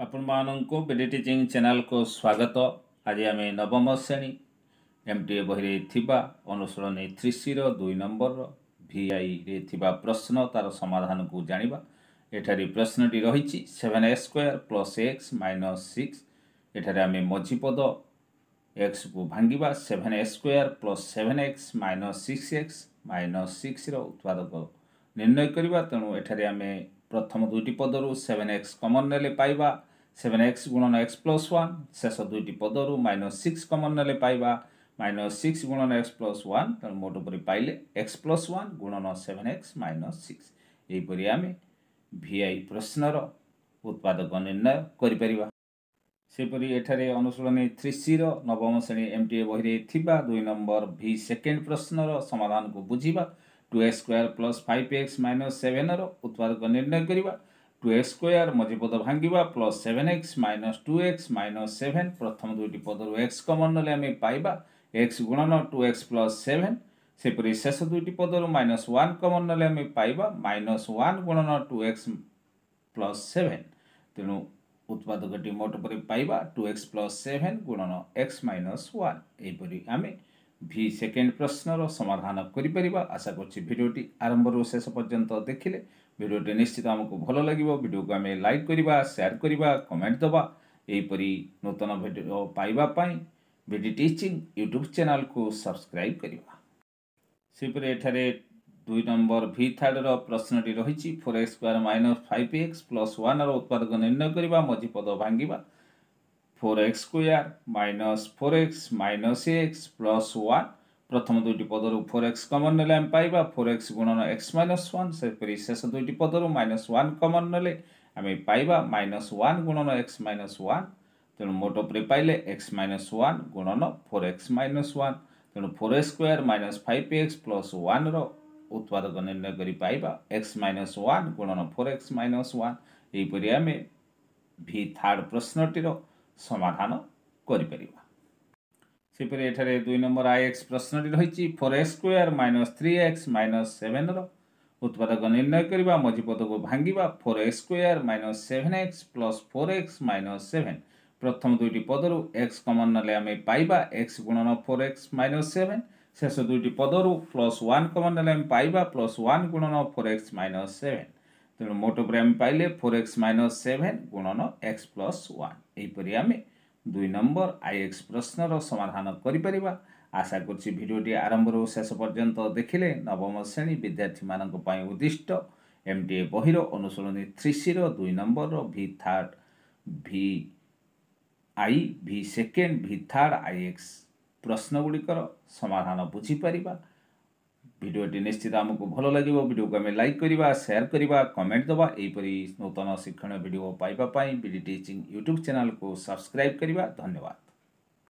ଆପଣମାନଙ୍କୁ BD teaching ଚ୍ୟାନେଲକୁ ସ୍ୱାଗତ। ଆଜି ଆମେ ନବମ ଶ୍ରେଣୀ ଏମ୍ ଟି ଏ ବହିରେ ଥିବା ଅନୁଶୀଳନୀ 3ସିର 2 ନମ୍ବରର ଭିଆଇରେ ଥିବା ପ୍ରଶ୍ନ, ତାର ସମାଧାନକୁ ଜାଣିବା। ଏଠାରେ ପ୍ରଶ୍ନଟି ରହିଛି 7 x square plus x minus 6। ଏଠାରେ ଆମେ ମଝିପଦ ଏକ୍ସକୁ ଭାଙ୍ଗିବା। 7 x square plus 7 x minus 6 x minus sixer ଉତ୍ପାଦକ ନିର୍ଣ୍ଣୟ କରିବା। ତେଣୁ ଏଠାରେ ଆମେ ପ୍ରଥମ ଦୁଇଟି ପଦରୁ ସେଭେନ୍ ଏକ୍ସ କମନ୍ ନେଲେ ପାଇବା ସେଭେନ୍ ଏକ୍ସ ଗୁଣନ ଏକ୍ସ ପ୍ଲସ୍ ୱାନ୍। ଶେଷ ଦୁଇଟି ପଦରୁ ମାଇନସ୍ ସିକ୍ସ କମନ୍ ନେଲେ ପାଇବା ମାଇନସ୍ ସିକ୍ସ ଗୁଣନ ଏକ୍ସ ପ୍ଲସ୍ ୱାନ୍। ତେଣୁ ମୋଟ ଉପରେ ପାଇଲେ ଏକ୍ସ ପ୍ଲସ୍ ୱାନ୍ ଗୁଣନ ସେଭେନ୍ ଏକ୍ସ ମାଇନସ୍ ସିକ୍ସ। ଏହିପରି ଆମେ ଭିଆଇ ପ୍ରଶ୍ନର ଉତ୍ପାଦକ ନିର୍ଣ୍ଣୟ କରିପାରିବା। ସେହିପରି ଏଠାରେ ଅନୁଶୀଳନୀ 3ସିର ନବମ ଶ୍ରେଣୀ ଏମ୍ ଟି ଏ ବହିରେ ଥିବା 2 ନମ୍ବର ଭି ସେକେଣ୍ଡ ପ୍ରଶ୍ନର ସମାଧାନକୁ ବୁଝିବା। 2 x square plus 5 x minus sevenର ଉତ୍ପାଦକ ନିର୍ଣ୍ଣୟ କରିବା। ଟୁ ଏକ୍ସ ସ୍କୋୟାର, ମଝିପଦ ଭାଙ୍ଗିବା, plus 7 x minus 2 x minus 7। ପ୍ରଥମ ଦୁଇଟି ପଦରୁ ଏକ୍ସ କମନ୍ ନେଲେ ଆମେ ପାଇବା ଏକ୍ସ ଗୁଣନ ଟୁ ଏକ୍ସ ପ୍ଲସ୍ ସେଭେନ୍। ସେପରି ଶେଷ ଦୁଇଟି ପଦରୁ ମାଇନସ୍ ୱାନ୍ କମନ୍ ନେଲେ ଆମେ ପାଇବା ମାଇନସ୍ ୱାନ୍ ଗୁଣନ ଟୁ ଏକ୍ସ ପ୍ଲସ୍ ସେଭେନ୍। ତେଣୁ ଉତ୍ପାଦକଟି ମୋଟ ଉପରେ ପାଇବା ଟୁ ଏକ୍ସ ପ୍ଲସ୍ ସେଭେନ୍ ଗୁଣନ ଏକ୍ସ ମାଇନସ୍ ୱାନ୍। ଏହିପରି ଆମେ ଭି ସେକେଣ୍ଡ ପ୍ରଶ୍ନର ସମାଧାନ କରିପାରିବା। ଆଶା କରୁଛି ଭିଡ଼ିଓଟି ଆରମ୍ଭରୁ ଶେଷ ପର୍ଯ୍ୟନ୍ତ ଦେଖିଲେ ଭିଡ଼ିଓଟି ନିଶ୍ଚିତ ଆମକୁ ଭଲ ଲାଗିବ। ଭିଡ଼ିଓକୁ ଆମେ ଲାଇକ୍ କରିବା, ସେୟାର କରିବା, କମେଣ୍ଟ ଦେବା। ଏହିପରି ନୂତନ ଭିଡ଼ିଓ ପାଇବା ପାଇଁ ବିଡି ଟିଚିଂ ୟୁଟ୍ୟୁବ୍ ଚ୍ୟାନେଲକୁ ସବସ୍କ୍ରାଇବ୍ କରିବା। ସେହିପରି ଏଠାରେ 2 ନମ୍ବର ଭି ଥାର୍ଡ଼ର ପ୍ରଶ୍ନଟି ରହିଛି 4 x square minus 5 x plus oneର ଉତ୍ପାଦକ ନିର୍ଣ୍ଣୟ କରିବା। ମଝିପଦ ଭାଙ୍ଗିବା। 4 x square minus 4 x minus x plus 1। ପ୍ରଥମ ଦୁଇଟି ପଦରୁ ଫୋର୍ ଏକ୍ସ କମନ୍ ନେଲେ ଆମେ ପାଇବା ଫୋର୍ ଏକ୍ସ ଗୁଣନ ଏକ୍ସ ମାଇନସ୍ ୱାନ୍। ସେହିପରି ଶେଷ ଦୁଇଟି ପଦରୁ ମାଇନସ୍ ୱାନ୍ କମନ୍ ନେଲେ ଆମେ ପାଇବା ମାଇନସ୍ ୱାନ୍ ଗୁଣନ ଏକ୍ସ ମାଇନସ୍ ୱାନ୍। ତେଣୁ ମୋଟ ଉପରେ ପାଇଲେ ଏକ୍ସ ମାଇନସ୍ ୱାନ୍ ଗୁଣନ ଫୋର୍ ଏକ୍ସ ମାଇନସ୍ ୱାନ୍। ତେଣୁ 4 x square minus 5 x plus oneର ଉତ୍ପାଦକ ନିର୍ଣ୍ଣୟ କରି ପାଇବା ଏକ୍ସ ମାଇନସ୍ ୱାନ୍ ଗୁଣନ ଫୋର୍ ଏକ୍ସ ମାଇନସ୍ ୱାନ୍। ଏହିପରି ଆମେ ଭି ଥାର୍ଡ଼ ପ୍ରଶ୍ନଟିର ସମାଧାନ କରିପାରିବା। ସେହିପରି ଏଠାରେ 2 ନମ୍ବର I X ପ୍ରଶ୍ନଟି ରହିଛି 4 x square minus 3 x minus sevenର ଉତ୍ପାଦକ ନିର୍ଣ୍ଣୟ କରିବା। ମଝିପଦକୁ ଭାଙ୍ଗିବା। 4 x square minus 7 x plus 4 x minus 7। ପ୍ରଥମ ଦୁଇଟି ପଦରୁ ଏକ୍ସ କମନ୍ ନେଲେ ଆମେ ପାଇବା ଏକ୍ସ ଗୁଣନ ଫୋର୍ ଏକ୍ସ ମାଇନସ୍ ସେଭେନ୍। ଶେଷ ଦୁଇଟି ପଦରୁ ପ୍ଲସ୍ ୱାନ୍ କମନ୍ ନେଲେ ଆମେ ପାଇବା ପ୍ଲସ୍ ୱାନ୍ ଗୁଣନ ଫୋର୍ ଏକ୍ସ ମାଇନସ୍ ସେଭେନ୍। ତେଣୁ ମୋଟ ଉପରେ ଆମେ ପାଇଲେ ଫୋର୍ ଏକ୍ସ ମାଇନସ୍ ସେଭେନ୍ ଗୁଣନ ଏକ୍ସ ପ୍ଲସ୍ ୱାନ୍। ଏହିପରି ଆମେ 2 ନମ୍ବର I X ପ୍ରଶ୍ନର ସମାଧାନ କରିପାରିବା। ଆଶା କରୁଛି ଭିଡ଼ିଓଟି ଆରମ୍ଭରୁ ଶେଷ ପର୍ଯ୍ୟନ୍ତ ଦେଖିଲେ ନବମ ଶ୍ରେଣୀ ବିଦ୍ୟାର୍ଥୀମାନଙ୍କ ପାଇଁ ଉଦ୍ଦିଷ୍ଟ ଏମ୍ ଟି ଏ ବହିର ଅନୁଶୀଳନୀ 3ସିର 2 ନମ୍ବରର V third, V I, V second, V third, I X ପ୍ରଶ୍ନ ଗୁଡ଼ିକର ସମାଧାନ ବୁଝିପାରିବା। ଭିଡ଼ିଓଟି ନିଶ୍ଚିତ ଆମକୁ ଭଲ ଲାଗିବ। ଭିଡ଼ିଓକୁ ଆମେ ଲାଇକ୍ କରିବା, ସେୟାର କରିବା, କମେଣ୍ଟ ଦେବା। ଏହିପରି ନୂତନ ଶିକ୍ଷଣୀୟ ଭିଡ଼ିଓ ପାଇବା ପାଇଁ ବିଡି ଟିଚିଂ ୟୁଟ୍ୟୁବ୍ ଚ୍ୟାନେଲକୁ ସବସ୍କ୍ରାଇବ୍ କରିବା। ଧନ୍ୟବାଦ।